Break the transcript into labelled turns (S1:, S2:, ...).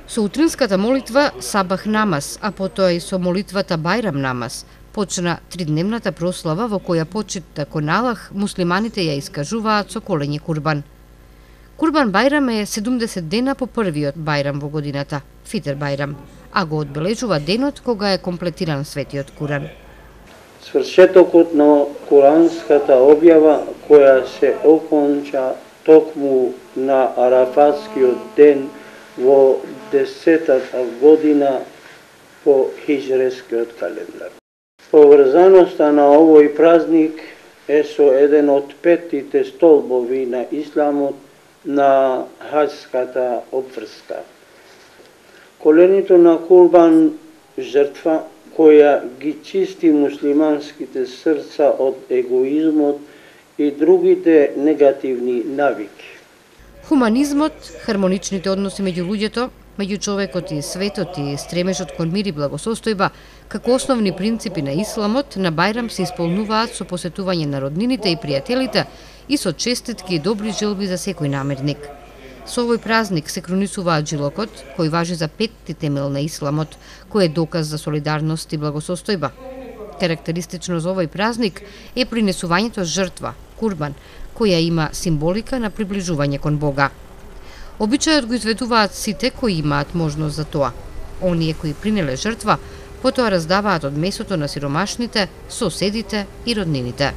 S1: Со утринската молитва Сабах намаз, а потоа и со молитвата Бајрам намаз, почна тридневната прослава во која почитта кон Аллах муслиманите ја искажуваат со колење курбан. Курбан Бајрам е 70 дена по првиот Бајрам во годината, Фитер Бајрам, а го одбележува денот кога е комплетиран светиот Куран.
S2: Свршетокот на куранската објава која се оконча токму на Арафатскиот ден во 10-та година по хиџрескиот календар. Поврзаноста на овој празник е со еден од 5 столбови на исламот, на хаџската обврска. Коленето на курбан жртва која ги чисти муслиманските срца од егоизмот и другите негативни навики.
S1: Хуманизмот, хармоничните односи меѓу луѓето, меѓу човекот и светот и стремежот кон мир и благосостојба, како основни принципи на исламот, на Бајрам се исполнуваат со посетување на роднините и пријателите и со честитки и добри желби за секој намерник. Со овој празник се кронисуваат жилокот, кој важи за 5 темел на исламот, кој е доказ за солидарност и благосостојба. Карактеристично за овој празник е принесувањето жртва, курбан, која има символика на приближување кон Бога. Обичајот го изведуваат сите кои имаат можност за тоа. Оние кои принеле жртва, потоа раздаваат од месото на сиромашните, соседите и роднините.